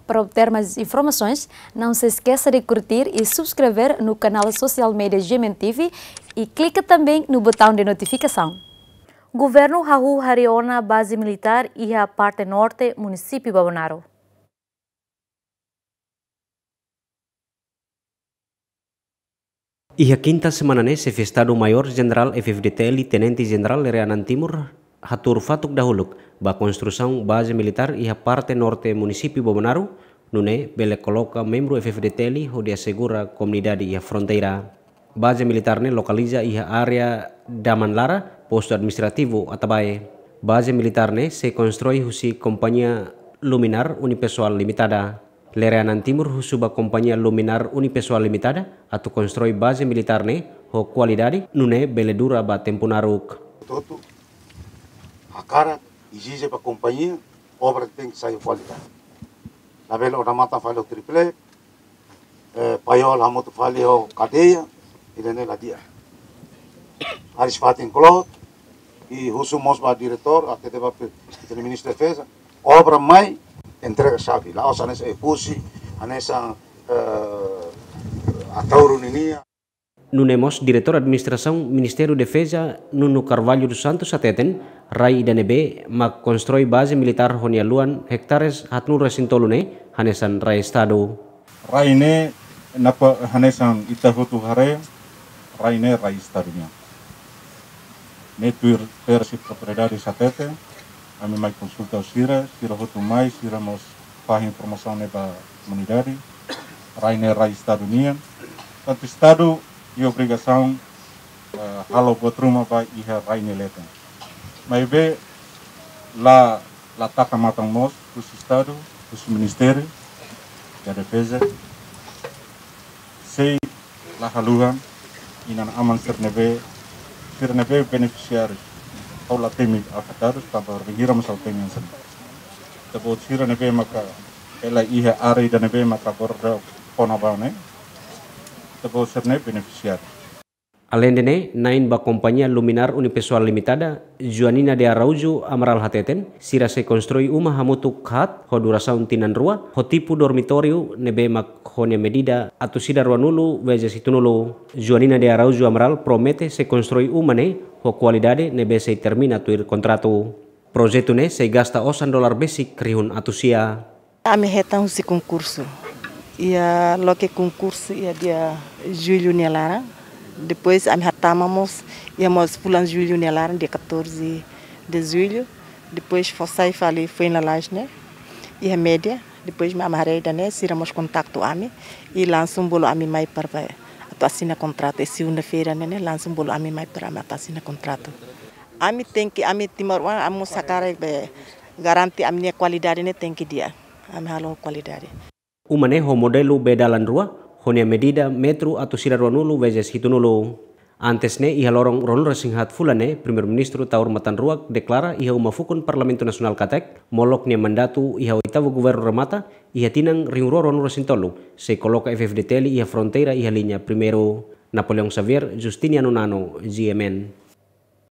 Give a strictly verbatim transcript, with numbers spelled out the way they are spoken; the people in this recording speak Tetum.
Para obter mais informações, não se esqueça de curtir e subscrever no canal social media G M N T V e clica também no botão de notificação. Governu hahú harii ona baze militár iha parte norte munisípiu Bobonaro. Iha kinta semana ne'e, Xefe Estadu Maiór Jenerál F-FDTL, Tenente Jenerál Lere Anan Timur, hatuur fatuk dahuluk ba konstrusaun baze militár iha parte norte munisípiu Bobonaro, nune'e bele koloka membru F-FDTL hodi asegura komunidade iha fronteira. Baze militár ne'e lokaliza iha área Daman Lara, postu administrativu Atabae. Baze militár ne'e sei konstrui husi kompañia Luminar Unipessoal Limitada. Lere Anan Timur husu ba kompañia Luminar Unipessoal Limitada atu konstrui baze militár ne'e ho kualidade, nune'e bele dura ba tempu naruk. Hotu-hotu hakarak ezije ba kompañia, obra tenke sai ho kualidade. Labele odamatan fali ho triple, eh, paiol hamutuk fali ho kadeia, ida-ne'e la di'ak. Hariis-fatin kloot, i husu mós ba diretór, até deba pe, ita-nia Ministru Defeza, obra mai, entrega xave. La'ós hanesan Oe-Fusi, hanesan, eh, Ataúru ninia. Nune'e mós Diretór Administrasaun Ministériu Defeza, Nuno Carvalho dos Santos, hateten, rai ida ne'ebé mak konstrui baze militár ho nia luan ektares haatnulu resin tolu ne'e hanesan rai Estadu. Rai ne'e, napa hanesan ita hotu haree, rai ne'e rai Estadu nian. Ne'e tuir tersi propriedade hatete, ami mai konsulta ho sira, sira hotu mai, sira mós fahe informasaun ne'e ba komunidade, rai ne'e rai Estadu nian. Tantu Estadu iha obrigasaun, eh, halo buat ruma ba iha rai nia leten. Maibé la, la taka matan mós husi Estadu, husi Ministériu da Defeza, sei la haluha inan-aman sira ne'ebé, sira ne'ebé benefisiáriu. Ha'u la temi afetadu, tanba bainhira mós ha'u temi hanesan ne'e. Ita-boot sira ne'ebé maka hela iha área ida ne'ebé maka borda kona-ba ne'e, ita-boot sira ne'e benefisiáriu. Aleinde ne'e, na'in ba kompañia Luminar Unipessoal Limitada, Joanina de Araújo Amaral hateten, sira sei konstrui uma hamutuk haat ho durasaun tinan rua, ho tipu dormitóriu ne'ebé mak ho nia medida atus ida ruanulu vezes hitunulu. Joanina de Araújo Amaral promete sei konstrui uma ne'e ho kualidade ne'ebé sei termina tuir kontratu. Projetu ne'e sei gasta osan dolar besik rihun atus sia. Ami hetan husi konkursu. Iha loke konkursu iha dia Jullu nia laran. Depois ami hatama mós, iha mós fulan Jullu nia laran, dia catorze de Julho. Depois fó sai fali foin lalais ne'e iha média. Depois ami haree ida-ne'e, sira mós kontaktu ami. I langsung bolu ami mai para atu asina kontratu. I segunda-feira ne'e, ne'e langsung bolu ami mai para ami atu asina kontratu. Ami tenke, ami timoroan, ami mós hakarak be garante ami-nia kualidade ne'e tenke di'ak. Ami halo kualidade. Uma ne'e ho modelu bee dalan rua, ho nia medida metru atus ida ruanulu vezes hitunulu. Antes ne'e, iha loron ruanulu resin haat fulan ne'e, Primeiru-Ministru Taur Matan Ruak deklara iha uma fukun Parlamentu Nasionál katak, molok nia mandatu iha oitavu governu remata, iha tinan rihun rua ruanulu resin tolu, sei koloka F-FDTL iha fronteira iha liña primeiru. Napoleão Xavier, Justiniano Nano, G M N.